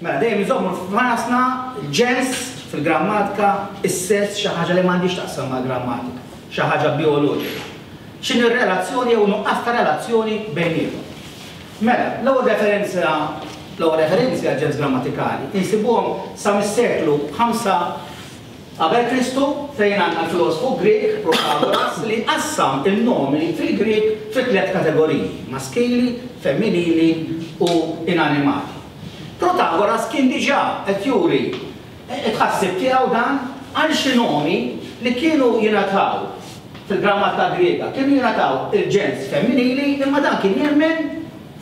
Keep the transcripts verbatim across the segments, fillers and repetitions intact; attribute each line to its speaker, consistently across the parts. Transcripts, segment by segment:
Speaker 1: Mela dejjem iżommu f'rasna il-ġens fil-grammatika, is-sess xi ħaġa li m'għandix taqsam mal-grammatika, xi ħaġa bioloġika. X'inhi r-relazzjoni jew nuqqas ta' relazzjoni bejniethom. Mela, l-ewwel referenza l-ewwel referenzi għal ġens grammatikali insibuhom sa mis-seklu ħamsa qabel Kristu, fejn għandna l-filosfu Grek Protagoras li qassam il-nomi fil-Grek fi tliet kategoriji: maskili, femminili u inanimati. Protagoras kien diġà qed juri it-tħassib tiegħu dan għal xi nomi li kienu jingħataw fil-grammatika Griega, kienu jingħataw il-ġens femminili, imma dan kien jemmen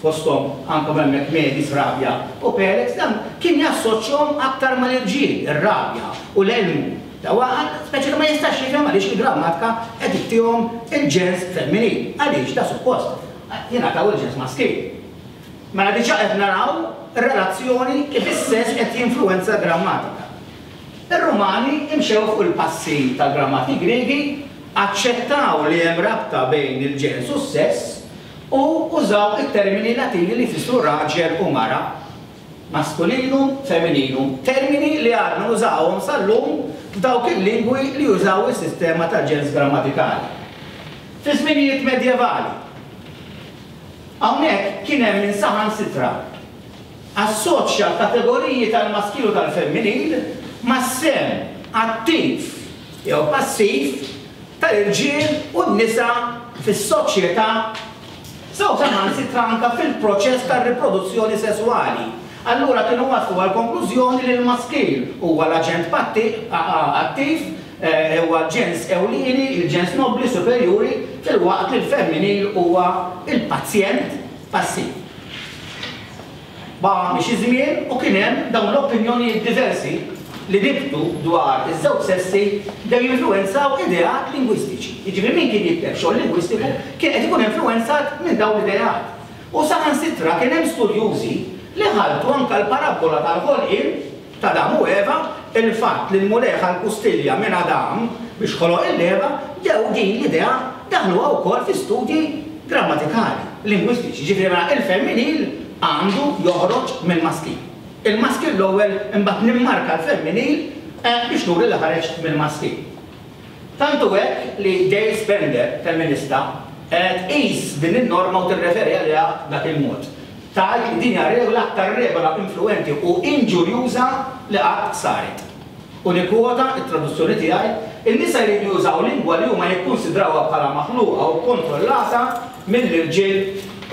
Speaker 1: fosthom anke hemmhekk Medis, Rabja u Pelex, dan kien jassoċjahom aktar mal-irġiel, ir-rabja u l-elmu. Dawa speċi li ma jistax jifhem għaliex il-grammatika qed ittihom il-ġens femminil. Għaliex da suppost jingħataw il-ġens maskil. Mela diġà qed naraw ir-relazzjoni kif is-sess qed jinfluwenza l-grammatika. Ir-Rumani imxew fuq il-passi tal-grammati Griegi, aċċettaw li hemm rabta bejn il-ġens u s-sess u użaw it-termini Latini li jfissru raġel u mara, masculinum, femminum, termini li għadna nużawhom sal-lum f'dawk il-lingwi li jużaw is-sistema tal-ġens grammatikali. Fi żminijiet medjevali, hawnhekk kien hemm min saħansitra assoċja l-kategoriji tal-maskil u tal-femminil mas-sehem attiv jew passiv tal-irġiel u n-nisa fis-soċjetà, sew saħansitra anke fil-proċess tar-riproduzzjoni sesswali. Allura kienu waslu għal konklużjoni li l-maskil huwa l-aġent attiv, huwa l-ġens ewlieni, il-ġens nobli superjuri, filwaqt li l-femminil huwa il-pazjent passiv. Baqa' mixi żmien u kien hemm dawn l-opinjonijiet diversi li nibtu dwar iż-żewġ sessi bdew jinfluwenzaw ideat lingwistiċi. Jiġifieri min kien jikteb xogħol lingwistiku kien qed ikun influwenzat minn dawn l-ideat. U saħansitra kien hemm studjużi li ħaltu anke l-parabbola tal-ħolqien ta' Adam u Eva, il-fatt li l-Mulej ħa l-kustilja minn Adam biex ħoloq il-Eva, bdew din l-idea daħluha wkoll fi studji grammatikali, lingwistiċi. Jiġifieri mela il-femminil għandu joħroġ mill-maskil. Il-maskil l-ewwel, imbagħad nimmarka l-femminil biex nuri li ħareġ mill-maskil. Tant hu hekk li Gail Spender, femminista, tqis din in-norma u tirreferi għaliha b'dak il-mod. Tgħid li din hija regola aktar regola influwenti u inġurjuża li qatt saret. U nikkwota t-traduzzjoni tiegħi, in-nisa jridu jużaw lingwa li huma jikkunsidrawha bħala maħluqa u kkontrollata mill-irġiel,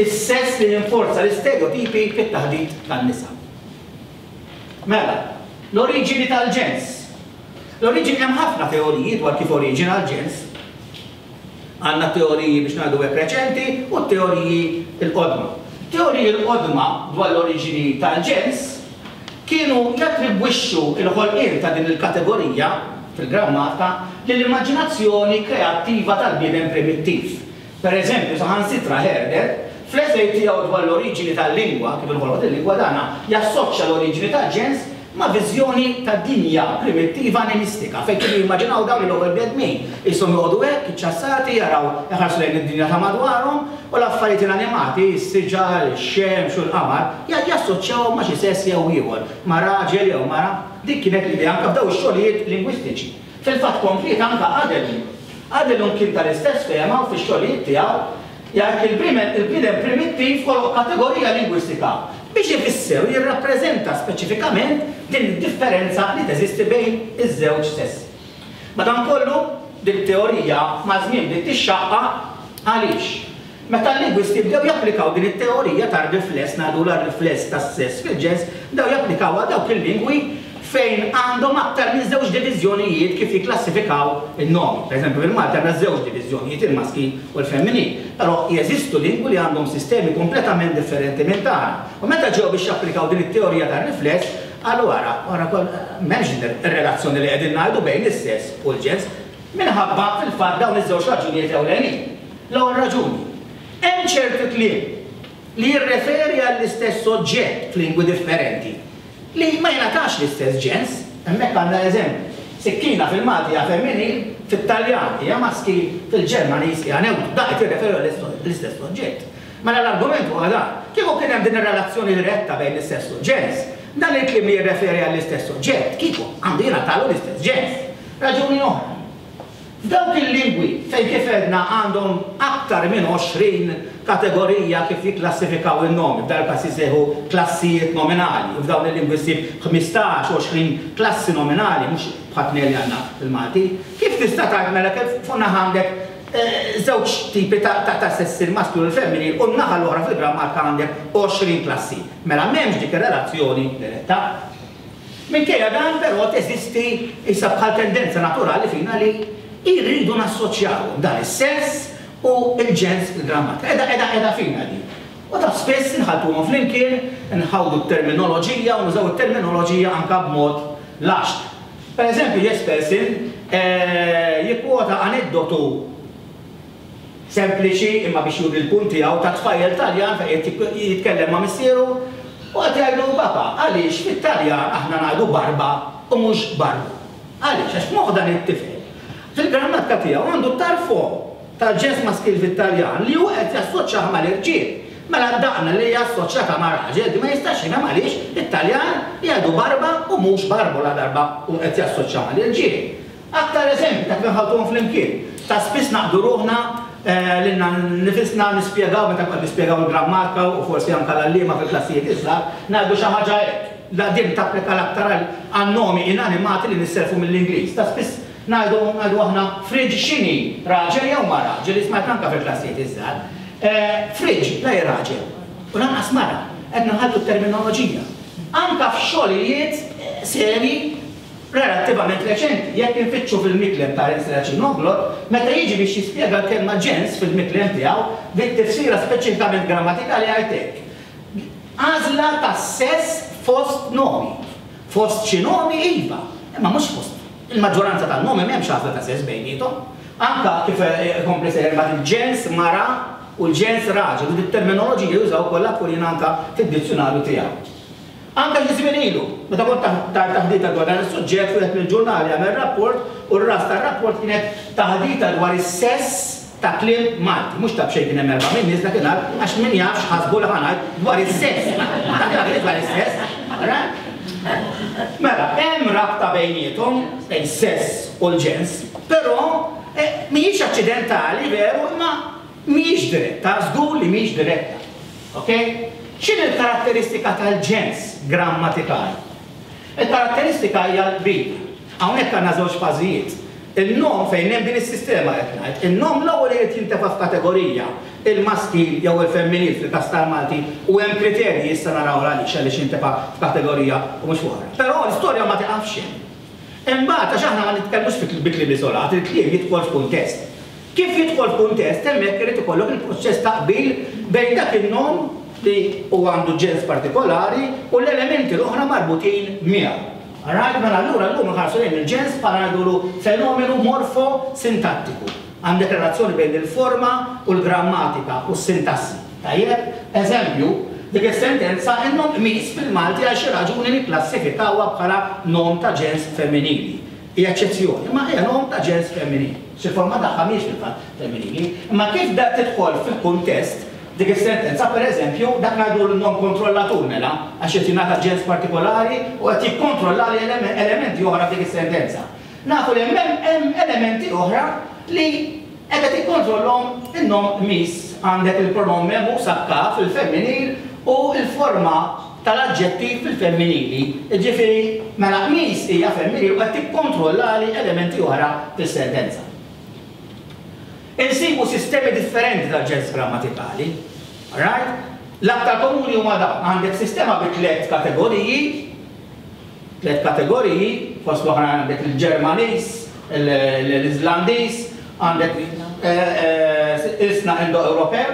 Speaker 1: is-sess li jinforza l-istereotipi fit-taħdit tan-nisa. Mela, l-oriġini tal-ġens. L-oriġini, hemm ħafna teoriji dwar kif oriġina l-ġens. Għandna teoriji biex ngħidu hekk reċenti u teoriji l-qodma. Teoriji l-qodma dwar l-oriġini tal-ġens kienu jattribwixxu l-ħolqien ta' din il-kategorija fil-grammatika lill-immaġinazzjoni kreattiva tal-bniedem primittiv. Per eżempju, saħansitra Herder, fl-esej tiegħu dwar l-oriġini tal-lingwa, kif inħolqot il-lingwa, dana jassoċja l-oriġini tal-ġens ma' viżjoni ta' dinja primittiva animistika, fejn kienu jimmaġinaw dawn l-ewwel bnedmin, qishom joqogħdu hekk, iċċassati, jaraw iħarsu lejn id-dinja ta' madwarhom, u l-affarijiet inanimati, is-siġar, ix-xemx u l-qamar, jassoċjawhom ma' xi sess jew ieħor, ma' raġel jew mara. Dik kienet l-idea anke f'dawn ix-xogħlijiet lingwistiċi. Fil-fatt kompliet anke Adelung. Adelung kien tal-istess fehma u fix-xogħlijiet tiegħu jgħid li l-bniedem primittiv ħoloq kategorija lingwistika biex ifisser u jirrappreżenta speċifikament din id-differenza li teżisti bejn iż-żewġ sessi. Madankollu, din it-teorija maż-żmien bdiet tixxaqqaq. Għaliex? Meta l-lingwisti bdew japplikaw din it-teorija tar-rifless, ngħidulha r-rifless tas-sess fil-ġens, bdew japplikawha dawk il-lingwi fejn għandhom aktar minn żewġ diviżjonijiet kif jikklassifikaw in-nomi. Per eżempju, fil-Malti għandna żewġ diviżjonijiet, il-maskil u l-femminil. Però jeżistu lingwi li għandhom sistemi kompletament differenti minn tagħna. U meta ġew biex japplikaw din it-teorija tar-rifless, qalu ara, ara m'hemmx din ir-relazzjoni li qegħdin ngħidu bejn is-sess u l-ġens, minħabba fil-fatt dawn iż-żewġ raġunijiet ewlenin. L-ewwel raġuni, hemm ċertu kliem li jirreferi għall-istess oġġett f'lingwi differenti li ma jingħatax l-istess ġens. Hemmhekk għandna eżempju. Sikkina fil-Malti hija femminil, fit-Taljan hija maskil, fil-Ġermaniż hija neutru. Da qed jirreferi għall-istess oġġett. Mela l-argument huwa dan. Kieku kien hemm din ir-relazzjoni diretta bejn is-sess u l-ġens, Dan il-kliem li jirreferi għall-istess oġġett, kieku għandu jingħatalu l-istess ġens. Raġuni oħra. F'dawk il-lingwi fejn kif għedna għandhom aktar minn għoxrin kategorija kif jikklassifikaw in-nomi, f'dan il-każ jisejħu klassijiet nominali, u f'dawn il-lingwi ssib ħmistax, għoxrin klassi nominali, mhux bħal tnejn li għandna fil-Malti. Kif tista' tgħid mela kif fuq naħa għandek żewġ tipi ta' sessi, il-masklu u l-femminil, u n-naħa l-oħra fil-grammatika għandek għoxrin klassi. Mela m'hemmx dik ir-relazzjoni diretta. Minkejja dan però teżisti issa bħal tendenza naturali fina li jridu nassoċjawhom dan is-sess u l-ġens fil-grammatika. Qiegħda qiegħda qiegħda fina din. U ta' spiss inħaltuhom flimkien, nħawdu t-terminoloġija u nużaw it-terminoloġija anke b'mod laxt. Per eżempju, Jespersen jikkwota aneddotu sempliċi imma biex juri l-punt tiegħu ta' tfajjel Taljan fejn qed jitkellem ma' missieru u qed jgħidlu papa għaliex fit-Taljan aħna ngħidu barba u mhux barbu. Għaliex? Għax f'moħħ dan it-tifel fil-grammatika tiegħu għandu tarfo tal-ġens maskil fit-Taljan li hu qed jassoċjah mal-irġiel. Mela daqna li hija assoċjata ma' raġel di ma jistax jifhem għaliex it-Taljan jgħidu barba u mhux barbu la darba u qed jassoċja mal-irġiel. Aktar eżempji ta' kif inħaltuhom flimkien. Ta' spiss naqdu ruħna lilna nifisna nispjegaw meta qed nispjegaw il-grammatika u forsi anke l-għalliema fil-klassijiet iżgħar ngħidu xi ħaġa hekk. La din tapplika l-aktar għan-nomi inanimati li nisselfu mill-Ingliż. Ta' spiss ngħidu ngħidu aħna fridge x'inhi, raġel jew mara, ġieli smajt anke fil-klassijiet iż-żgħar. Fridge la hi raġel u lanqas mara, qed nħaltu t-terminoloġija. Anke f'xogħlijiet seri relattivament reċenti, jekk infittxu fil-miklem ta' Ernst Noglot, meta jiġi biex jispjega l-kelma ġens fil-miklem tiegħu, bit-tifsira speċifikament grammatikali jgħid hekk. Għażla ta' sess fost nomi. Fost xi nomi iva, imma mhux fost. Il-maġġoranza tan-nomi m'hemmx għażla ta' sess bejniethom. Anka kif ikompli sejjer mbagħad il-ġens mara u l-ġens raġel, u dit-terminoloġija jużaw kollha kull anka fid-dizzjonarju tiegħu. Anka xi żmien ilu, meta kont taħdita dwar dan is-suġġett wieħed mill-ġurnali għamel rapport u r-ras tar-rapport kienet taħdita dwar is-sess ta' kliem Malti. Mhux ta' b'xejn kien hemm erba' minn nies dakinhar għax min jaf x'ħasbu li ħa ngħid dwar is-sess. Dak dwar is-sess. Mela, hemm rabta bejniethom bejn sess u l-ġens, però mhijiex aċċidentali veru, imma mhijiex diretta, żgur li mhijiex diretta. Okay? X'inhi l-karatteristika tal-ġens grammatikali? Il-karatteristika hija l-qbil. Hawnhekk għandna żewġ fażijiet. Il-nom fejn hemm din is-sistema qed ngħid, il-nom l-ewwel irid jintefa' f'kategorija, il-maskil jew il-femminil fil-każ tal-Malti, u hemm kriterji issa naraw għaliex għaliex jintefa' f'kategorija u mhux oħra. Però l-istorja ma tiqafx hemm. Imbagħad għax aħna ma nitkellmux bi kliem iżolat, il-kliem jidħol f'kuntest. Kif jidħol f'kuntest hemmhekk irid ikollok il-proċess ta' qbil bejn dak in-nom li huwa għandu ġens partikolari u l-elementi l-oħra marbutin miegħu. Alright, mela allura llum nħarsu lejn il-ġens bħala ngħidulu fenomenu morfosintattiku. Għandek relazzjoni bejn il-forma u l-grammatika u s-sintassi. Tajjeb, eżempju, dik is-sentenza in-nom qmis fil-Malti għal xi raġuni nikklassifikawha bħala nom ta' ġens femminili. Hija eċċezzjoni, imma hija nom ta' ġens femminili. Xi forma tagħha mhijiex fil-fatt femminili, imma kif da tidħol fil-kuntest dik is-sentenza pereżempju dak ngħidu l-nom kontrollatur mela għax qed jingħata ġens partikolari u qed jikkontrolla elementi oħra f'dik is-sentenza. Nafu li hemm elementi oħra li qed jikkontrollhom in-nom qmis. Għandek il-pronom memu sakka fil-femminil u l-forma tal-aġġettiv fil-femminili. Jiġifieri mela qmis hija femminil u qed tikkontrollali elementi oħra fis-sentenza. Insibu sistemi differenti tal-ġens grammatikali. Right? L-aktar komuni huma dawn. Għandek sistema bi tliet kategoriji, tliet kategoriji, fost l-oħra għandek il-Ġermaniż, l-Iżlandiż, għandek il-sna Indo-Ewropew.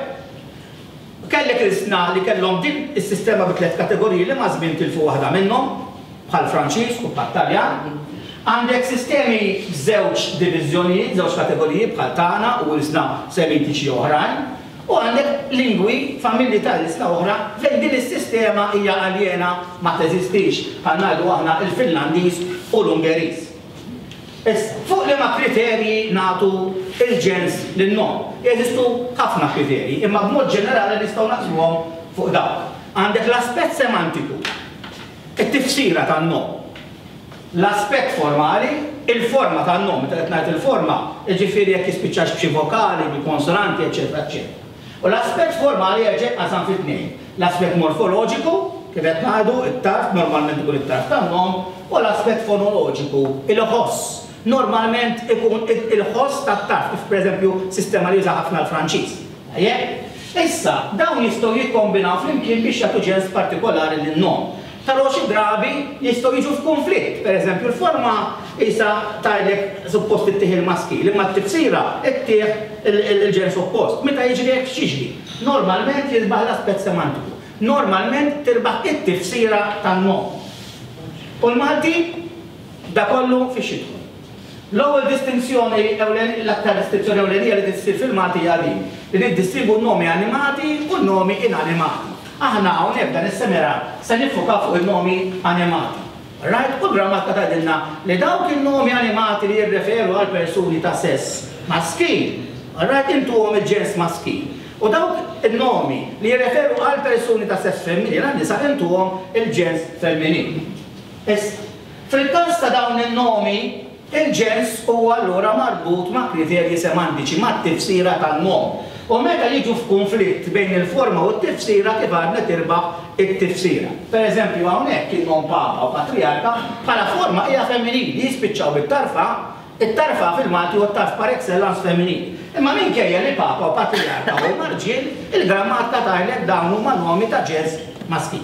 Speaker 1: Kellek il-sna li kellhom din is-sistema bi tliet kategoriji li ma' żmien tilfu waħda minnhom, bħal Franċiż u bħal Taljan. Għandek sistemi b'żewġ diviżjonijiet, żewġ kategoriji bħal tagħna u l-sna semitiċi oħrajn, u għandek lingwi, familji tal-isna oħra fejn din is-sistema hija aljena ma teżistix, bħal ngħidu aħna il-Finlandiż u l-Ungeriż. Issa, fuq liema kriterji nagħtu il-ġens lin-nom? Jeżistu ħafna kriterji, imma b'mod ġenerali nistgħu naqsmuhom fuq dawk. Għandek l-aspett semantiku. It-tifsira tan-nom. L-aspett formali, il-forma tan-nom, meta qed ngħid il-forma, jiġifieri jekk jispiċċax b'xi vokali, bil-konsonanti, eċetera, eċetera. U l-aspett formali jerġa' jinqasam fi tnejn. L-aspett morfoloġiku, kif qed ngħidu, it-tarf normalment ikun it-tarf tan-nom, u l-aspett fonoloġiku, il-ħoss. Normalment ikun il-ħoss tat-tarf, kif pereżempju sistema li juża ħafna l-Franċiż. Issa, dawn jistgħu jikkombinaw flimkien biex jagħtu ġens partikolari lin-nom. Però xi drabi jistgħu jiġu f'kunflitt. Pereżempju, l-forma isa tgħidlek suppost ittih il-maskil, imma t-tifsira ittih il-ġens oppost. Meta jiġri hekk x'jiġri? Normalment jirbaħ l-aspett semantiku. Normalment tirbaħ it-tifsira tan-nom. U l-Malti da kollu fiex jidħol. L-ewwel distinzjoni, l-aktar distinzjoni ewlenija li tissir fil-Malti hija din, li niddistingwu n-nomi animati u n-nomi inanimati. Aħna hawnhekk dan is-seminar se niffukaw fuq il-nomi animati. Right? U l-grammatika tgħidilna li dawk il-nomi animati li jirreferu għal persuni ta' sess maskil, right, intuhom il-ġens maskil. U dawk il-nomi li jirreferu għal persuni ta' sess femminil, għan-nisa intuhom il-ġens femminil. Issa, fil-każ ta' dawn il-nomi, il-ġens huwa allura marbut ma' kriterji semantiċi, ma' tifsira tan-nom. U meta jiġu f'kunflitt bejn il-forma u t-tifsira, kif għadna tirbaħ it-tifsira. Per eżempju, hawnhekk il-nom papa u patriarka bħala forma hija femminili, jispiċċaw bit-tarfa, it-tarfa fil-Malti u t-tarf par excellence femminili. Imma minkejja li papa u patriarka huma rġiel, il-grammatika tgħidlek dawn huma nomi ta' ġens maskil.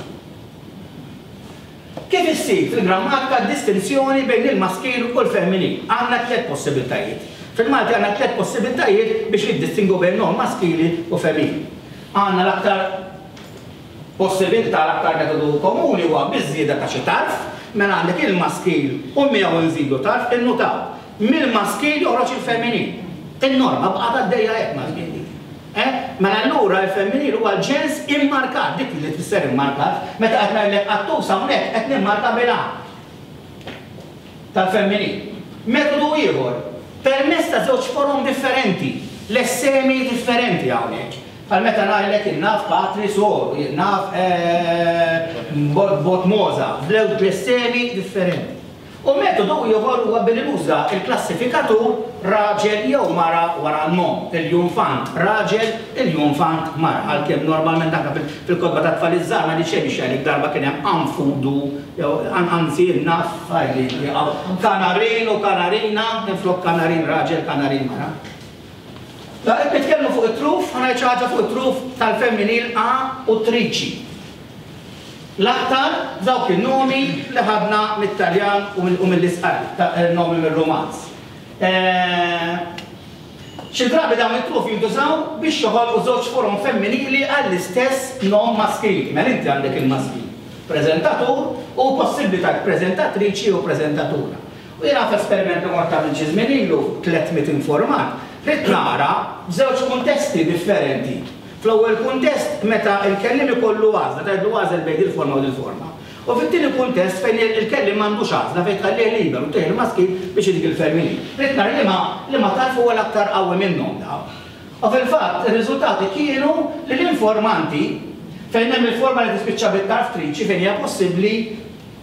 Speaker 1: Kif issir fil-grammatika distinzjoni bejn il-maskil u l-femminil? Għandna tliet possibiltajiet. Fil-Malti għandna tliet possibiltajiet biex niddistingu bejn nom maskili u femminili. Għandna l-aktar possibilità, l-aktar metodu komuni huwa biż-żieda ta' xi tarf, mela għandek il-maskil u miegħu nżidu tarf, innutaw. Mill-maskil joħroġ il-femminil. In-norma baqgħet għaddejja hekk ma' żmien. Mela allura il-femminil huwa l-ġens immarkat, dik li tfisser immarkat, meta qed ngħidlek qattus hawnhekk qed nimmarka bil-A tal-femminil. Metodu ieħor, permezz ta' żewġ forom differenti, lessemi differenti hawnhekk. Bħal meta ngħidlek innaf patri soru, innaf bot moza, b'żewġ lessemi differenti. U metodu ieħor huwa billi nuża il-klassifikatur raġel jew mara wara n-nom, il-junfant raġel, il-junfant mara. Għalkemm normalment anke fil-kotba ta' tfal iż-żgħar ma xejn biex jgħidlek darba kien hemm anfudu, jew anzi naf kanarin u kanarina, minflok kanarin raġel, kanarin mara. La qed nitkellmu fuq it-truf, ħa ngħid xi ħaġa fuq it-truf tal-femminil A u triċi. L-aktar dawk il-nomi li ħadna mit-Taljan u mill-Isqalli, nomi mir-Romanz. Xi drabi dawn it-truf jintużaw biex joħolqu żewġ forom femminili għall-istess nom maskili. Mela inti għandek il-maskil, preżentatur u possibbli tgħid preżentatriċi u preżentatura. U jiena f'esperiment li mort għamil xi żmien ilu tliet mitt informat, rid nara f'żewġ kuntesti differenti. Fl-ewwel kuntest meta l-kellim ikollu għażla, tgħidlu għażel bejn il-forma u il-forma. U fit-tieni kuntest fejn il-kellim m'għandux għażla fejn tħallih liberu tieħ il-maskil biex idik il-femminil. Rid nara li ma li ma tarf huwa l-aktar qawwi minnhom daw. U fil-fatt ir-riżultati kienu li l-informanti fejn hemm il-forma li tispiċċa bit-tarf triċi fejn hija possibbli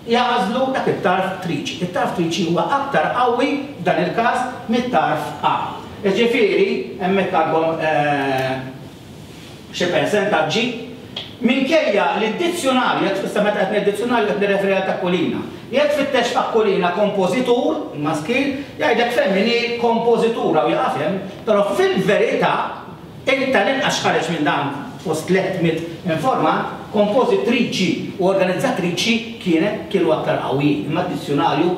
Speaker 1: jagħżlu dak it-tarf triċi. It-tarf triċi huwa aktar qawwi f'dan il-każ mit-tarf A. Jiġifieri hemmhekk għandhom xi persentaġġi minkejja li d-dizzjonarju, jekk tfisser meta qed ngħid dizzjonarju qed nirreferi għal Aquilina. Jekk tfittex f'Aquilina kompożitur, maskil, jgħidlek femminil kompożitura u jaqaf hemm, però fil-verità inta l-inqas x'ħareġ minn dan fost tliet mitt informant, kompożitriċi u organizzatriċi kienet kienu aktar qawwijin, imma d-dizzjonarju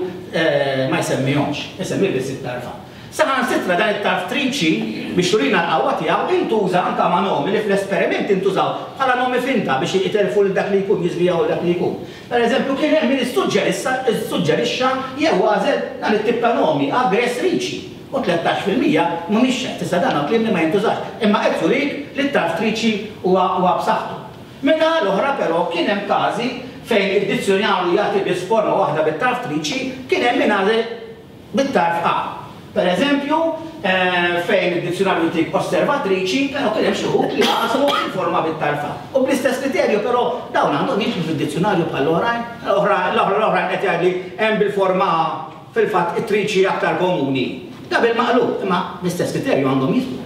Speaker 1: ma jsemmihomx, isemmi biss it-tarfa. Saħansitra dan it-tarf triċi biex turina l-qawwa tiegħu intuża anke ma' nomi li fl-esperiment intużaw bħala nomi finta biex jiterfu lil dak li jkun, jiżvijaw lil dak li jkun. Per eżempju, kien hemm min issuġġerixxa jew għażel dan it-tip ta' nomi, aggressriċi, u tlettax fil-mija mhumiex xejn, tista' dan kliem li ma jintużax, imma qed jurik li t-tarf triċi huwa b'saħħtu. Min-naħa l-oħra però kien hemm każi fejn id-dizzjonarju jagħti biss forma waħda bit-tarf triċi, kien hemm min għażel bit-tarf A. Per eżempju, fejn id-dizzjonarju jtik osservatriċi, però kien hemm xi wħud li għażlu il-forma bit-tarfa. U bl-istess kriterju però dawn għandhom jidħlu fid-dizzjonarju bħall-oħrajn, l-oħrajn qed jgħidli hemm bil-forma fil-fatt it-triċi aktar komuni. Da bil-maqlub, imma bl-istess kriterju għandhom jidħlu.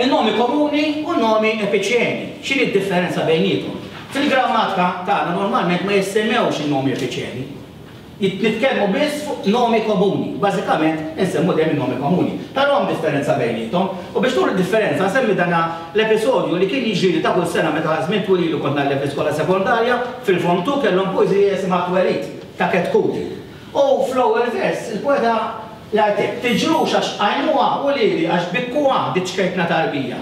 Speaker 1: Il-nomi komuni u n-nomi epiċeni. X'inhi d-differenza bejniethom? Fil-grammatika tagħna normalment ma jissemmewx in-nomi epiċeni. Nitkellmu biss fuq nomi komuni. Bażikament insemmu dejjem in-nomi komuni. Però hemm differenza bejniethom. U biex turi d-differenza nsemmi dana l-episodju li kien jiġri ta' kull sena meta żmien twil ilu kont ngħallem fl-iskola sekondarja, fil-Form two kellhom poeżija jisimha Twelid ta' Ketkuti. U fl-ewwel vers il-poeta jgħid hekk: tiġrux għax qajmuha u lili għax bikkuha dik ċkejkna tarbija.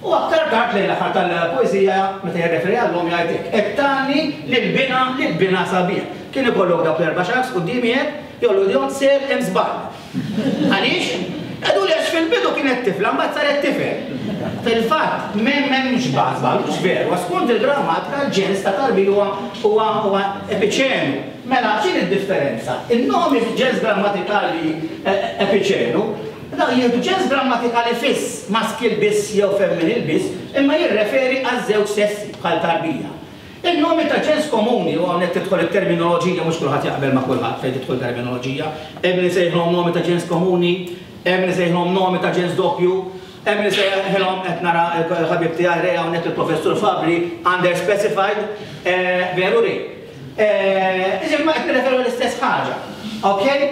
Speaker 1: U aktar tard lejn l-aħħar tal-poeżija meta jirreferi għall-omm jgħid hekk: qed tgħanni lil binha lil binha sabiħ. Kien ikollok dawk l-erba' xahar quddiemi hekk, jollu idejhom ser hemm żball. Għaliex? Għadu li għax fil-bidu kienet tifla, mbagħad saret tifel. Fil-fatt, m'hemmx żball, mhux veru, għax skont il-grammatika l-ġens ta' tarbija huwa huwa epiċenu. Mela, x'inhi d-differenza? Il-nomi fil-ġens grammatikali epiċenu, dawn jieħdu ġens grammatikali fiss, maskil biss jew femminil biss, imma jirreferi għaż-żewġ sessi bħal tarbija. Il-nomi ta' ġens komuni, u hawnhekk tidħol it-terminoloġija, mhux kulħadd jaqbel ma' kulħadd fejn tidħol terminoloġija, hemm li sejħilhom nomi ta' ġens komuni, hemm li sejħilhom nomi ta' ġens doppju, hemm li sejħilhom qed nara l-ħabib tiegħi Rej hawnhekk il-Professur Fabri under specified, veru Rej. Iġifieri ma qed nirreferu l-istess ħaġa. Okay?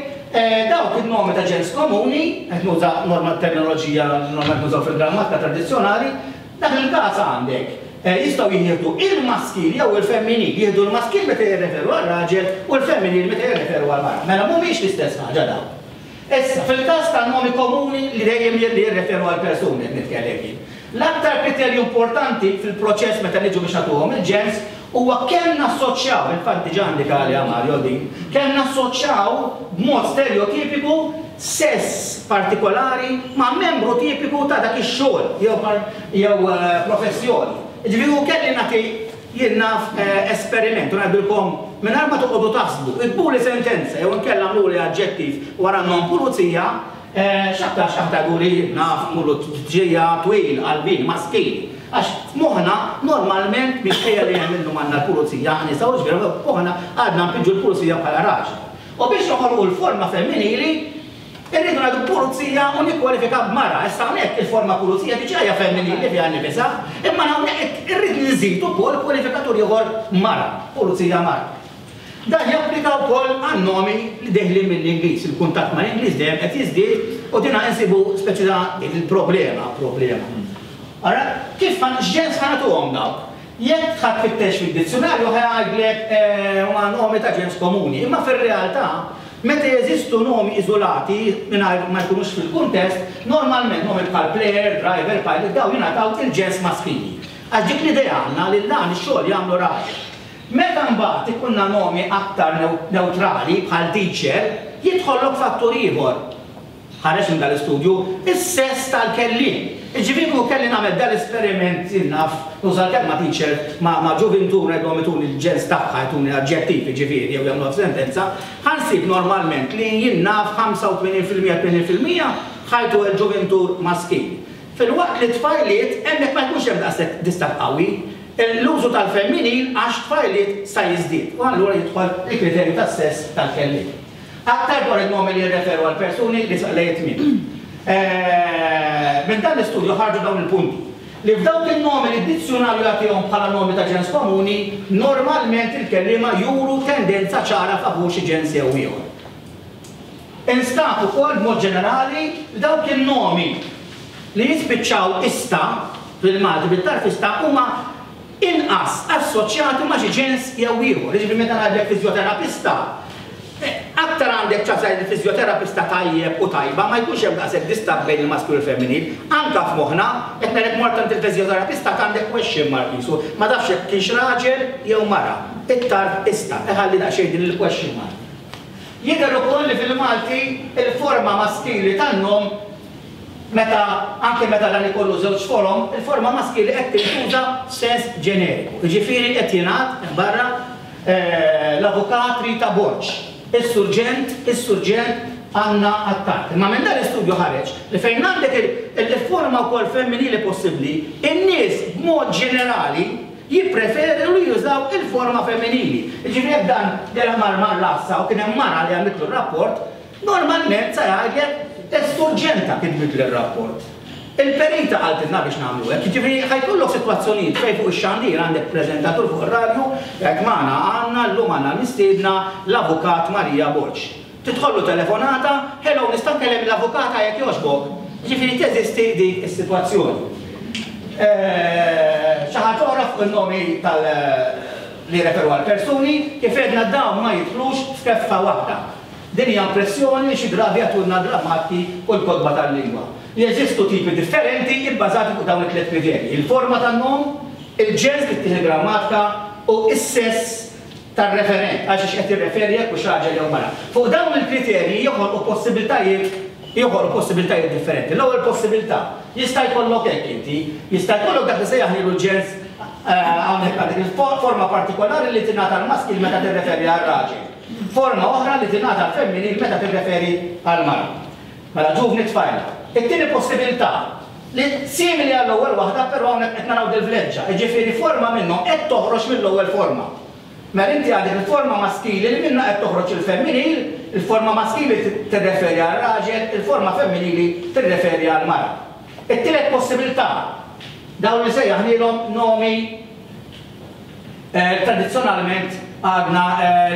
Speaker 1: Dawk il-nomi ta' ġens komuni, qed nuża normal terminoloġija normalment nużaw fil-grammatika tradizzjonali, dak il-każ għandek jistgħu jieħdu il-maskil jew il-femminil, jieħdu l-maskil meta jirreferu għal-raġel u l-femminil meta jirreferu għal-mara. Mela mhumiex l-istess ħaġa dawn. Issa, fil-każ tan-nomi komuni li dejjem jirreferu għal persuni qed nitkellem jien. L-aktar kriterju importanti fil-proċess meta niġu biex nagħtuhom il-ġens huwa kemm nassoċjaw, infatti diġà indika għaliha Mario din, kemm nassoċjaw b'mod stereotipiku sess partikolari ma' membru tipiku ta' dak ix-xogħol jew professjoni. Ġifieri hu kelli nagħti jien naf esperiment u ngħidilkom mingħajr ma toqgħodu taħsbu, iktbuli sentenza jew inkella għamluli aġġettiv wara n-nom pulizija, x'aktar x'aħ tgħiduli naf pulizija twil, qalbin, maskil. Għax f'moħħna normalment minkejja li hemm illum għandna l-pulizija nisa u ġifieri f'moħħna għadna npiġġu l-pulizija bħala raġel. U biex noħolqu l-forma femminili irridu ngħidu pulizija u nikkwalifika b'mara. Issa hawnhekk il-forma pulizija diġà hija femminili fiha nnifisha, imma hawnhekk irrid nżid ukoll kwalifikatur ieħor mara, pulizija mara. Dan japplika wkoll għan-nomi li deħlin mill-Ingliż, il-kuntatt mal-Ingliż dejjem qed jiżdied u dina insibu speċi ta' il-problema, problema. Ara, kif x'ġens ħanatuhom dawk? Jekk ħadd fittex fid-dizzjonarju ħa jgħidlek huma nomi ta' ġens komuni, imma fir-realtà meta jeżistu nomi iżolati mingħajr ma jkunux fil-kuntest, normalment nomi bħal player, driver, pilot, dawn jingħataw il-ġens maskili. Għax dik l-idea għandna li dan ix-xogħol jagħmlu raġel. Meta mbagħad ikunna nomi aktar neutrali bħal teacher, jidħollok fattur ieħor. Ħareġ minn dal-istudju is-sess tal-kelliem. Jiġifieri kieku kelli nagħmel dal-esperiment jien naf nuża l-kelma teacher ma' ġuvintur ngħidlhom ituni l-ġens tagħha jtuni aġġettiv jiġifieri jew jagħmluha f'sentenza, ħa nsib normalment li jien naf ħamsa u tmenin fil-mija tmenin fil-mija ħajtu l-ġuvintur maskil. Filwaqt li tfajliet hemmhekk ma jkunx hemm daqshekk distakk qawwi. L-użu tal-femminil għax tfajliet sa jiżdied u allura jidħol il-kriterju tas-sess tal-kelliem. Aktar dwar in-nomi li jirreferu għal persuni li saqlejt minn. Minn dan l-istudju ħarġu dawn il-punti. Li f'dawk in-nomi li d-dizzjonarju jagħtihom bħala nomi ta' ġens komuni, normalment il-kelliema juru tendenza ċara favur xi ġens jew ieħor. Instab ukoll b'mod ġenerali li dawk in-nomi li jispiċċaw ista fil-Malti bit-tarfista huma inqas assoċjati ma' xi ġens jew ieħor. Jiġifieri meta ngħidlek fiżjoterapista, aktar għandek ċans li fiżjoterapista tajjeb u tajba ma jkunx hemm daqshekk distakk bejn il-maskil u l-femminil. Anka f'moħħna qed ngħidlek mort għand il-fiżjoterapista għandek question mark qisu, ma tafx jekk kienx raġel jew mara. It-tarf ista, iħalli daqsxejn din il-question mark. Jidher ukoll li fil-Malti il-forma maskili tan-nom meta anke meta dan ikollu żewġ forom, il-forma maskili qed tintuża f'sens ġeneriku. Jiġifieri qed jingħad barra l-avukat Rita Borg, is-surġent, is-surġent għandna Attard. Imma minn dan l-istudju ħareġ li fejn għandek il-forma wkoll femminili possibbli, in-nies b'mod ġenerali jippreferu li jużaw il-forma femminili. Jiġifieri jekk dan dera mar mar l-għassa u kien hemm mara li għamlitlu r-rapport, normalment sa jgħidlek is-surġenta kitbitli r-rapport. Il-perita qaltilna biex nagħmlu hekk, jiġifieri ħa jkollok sitwazzjonijiet fejn fuq ix-xandir għandek preżentatur fuq ir-radju, jgħid magħna għandna llum għandna mistiedna l-Avukat Marija Borg. Tidħollu telefonata, hello, nista' nkellem l-avukata jekk jogħġbok. Jiġifieri teżisti dik is-sitwazzjoni. Xi ħaġa oħra fuq in-nomi tal li referu għal persuni, kif għedna dawn ma jidħlux f'keffa waħda. Din hija impressjoni li xi drabi jagħtulna grammati u l-kotba tal-lingwa. Jeżistu tipi differenti ibbażati fuq dawn it-tliet kriterji: il-forma tan-nom, il-ġens li ttieħ il-grammatika u s-sess tar-referent, għal xiex qed jirreferi jekk hux raġel jew mara. Fuq dawn il-kriterji joħolqu possibiltajiet joħolqu possibiltajiet differenti. L-ewwel possibilità jista' jkollok hekk inti, jista' jkollok dak li sejjaħlilu l-ġens hawnhekk għandek il-forma partikolari li tingħata l-maskil meta tirreferi għar-raġel. Forma oħra li tingħata l-femminil meta tirreferi għall-mara. Mela ġuvni tfajla. It-tieni possibilità li simili għall-ewwel waħda, però hawnhekk qed naraw dil-vleġġa, jiġifieri forma minnhom qed toħroġ mill-ewwel forma. Mela inti għandek il-forma maskili li minnha qed toħroġ il-femminil, il-forma maskili tirreferi għar-raġel, il-forma femminili tirreferi għall-mara. It-tielet possibilità, dawn li sejjaħnielhom nomi tradizzjonalment għadna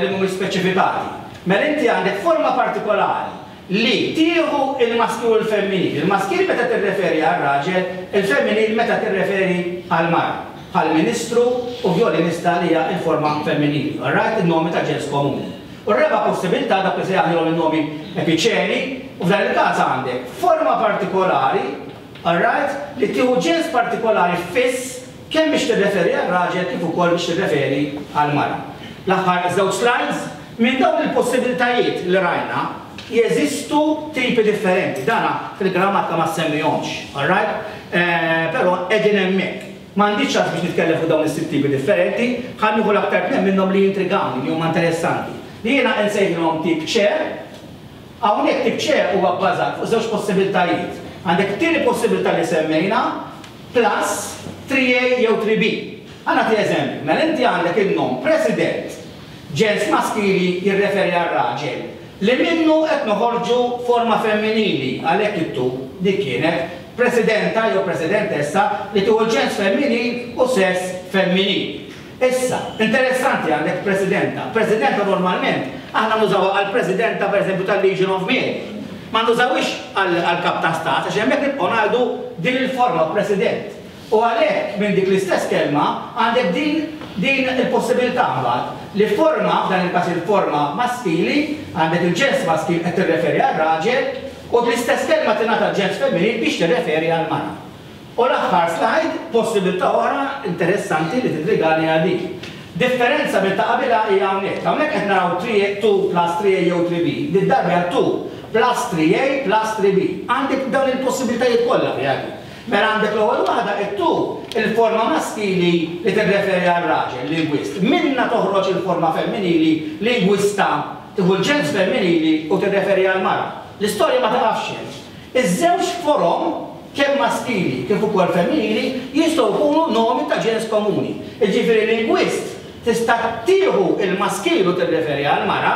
Speaker 1: li mhumiex speċifikati. Mela inti għandek forma partikolari li tieħu il-maskil u l-femminil. Il-maskil meta tirreferi għar-raġel, il-femminil meta tirreferi għall-mara. Bħal ministru u violinista li hija l-forma femminili. All right, il-nomi ta' ġens komuni. U r-raba' possibilità dak li sejjaħnielhom in-nomi epiċeni, u f'dan il-każ għandek forma partikolari, all right, li tieħu ġens partikolari fiss kemm biex tirreferi għar-raġel kif ukoll biex tirreferi għall-mara. L-aħħar żewġ slides, minn dawn il-possibilitajiet li rajna, jeżistu tipi differenti. Dana fil-grammatika ma semmihomx, all right? Però qegħdin hemmhekk. M'għandix ċans biex nitkellem fuq dawn is-sitt tipi differenti, ħa nieħu l-aktar tnejn minnhom li jintrigawni, li huma interessanti. Li jiena nsejħilhom tip C. Hawnhekk tip C huwa bbażat fuq żewġ possibiltajiet. Għandek it-tieni possibilità li semmejna plus three A jew three B. Ħa nagħti eżempju, mela inti għandek in-nom president, ġens maskili jirreferi għal raġel, li minnu qed noħorġu forma femminili, għalhekk it-tu dik kienet presidenta jew presidentessa li tieħu ġens femminil u sess femminil. Issa, interessanti għandek presidenta. Presidenta normalment aħna nużawha għal presidenta pereżempju tal-Legion of Mary. Ma nużawhiex għal kap ta' stat, għax hemmhekk nibqgħu ngħidu din il-forma president. U għalhekk minn dik l-istess kelma għandek din, din il-possibilità mbagħad li forma, f'dan il-każ il-forma maskili, għandek il-ġens maskil qed tirreferi għal raġel, u l-istess kelma tingħata ġens femminil biex tirreferi għal mara. U l-aħħar slide, possibilità oħra interessanti li titrigani għal dik. Differenza minn ta' qabilha hija hawnhekk. Hawnhekk qed naraw two plus three A jew three B. Din darba hija two plus three A plus three B. Għandek dawn il-possibilitajiet kollha fiha dik. Mela għandek l-ewwel waħda it-two, il-forma maskili li tirreferi għal raġel, lingwist. Minna toħroġ il-forma femminili, lingwista, tieħu l-ġens femminili u tirreferi għal mara. L-istorja ma taqafx hemm. Iż-żewġ forom, kemm maskili kif ukoll femminili, jistgħu jkunu nomi ta' ġens komuni. Jiġifieri lingwist tista' tieħu il-maskil u tirreferi għal mara,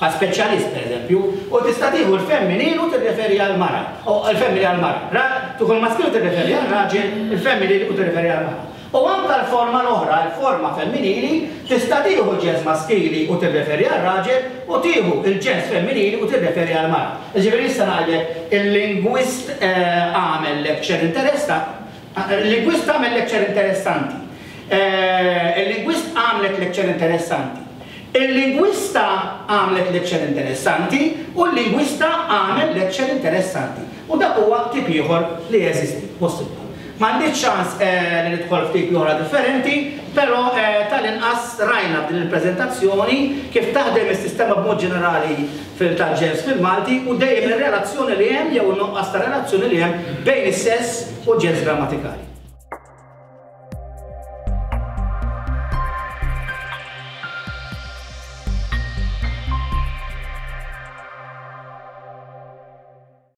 Speaker 1: bħal speċjalist pereżempju, u tista' tieħu l-femminil u tirreferi għal mara, u l-femminil għal mara. Ra, tieħu l-maskil u tirreferi għal raġel, il-femminil u tirreferi għal mara. U anke l-forma l-oħra, l-forma femminili, tista' tieħu l-ġens maskili u tirreferi għal raġel, u tieħu l-ġens femminili u tirreferi għal mara. Jiġifieri issa ngħidlek il-lingwist għamel lecture interessanti, il-lingwist għamel lecture interessanti. Il-lingwist għamlet lecture interessanti. Il-lingwista għamlet lecture interessanti u l-lingwista għamel lecture interessanti. U dak huwa tip ieħor li jeżisti, possibbli. M'għandix ċans li nidħol f'tipi oħra differenti, però tal-inqas rajna f'din il-preżentazzjoni kif taħdem is-sistema b'mod ġenerali fil-tal-ġens fil-Malti u dejjem ir-relazzjoni li hemm jew in-nuqqas ta' relazzjoni li hemm bejn is-sess u l-ġens grammatikali.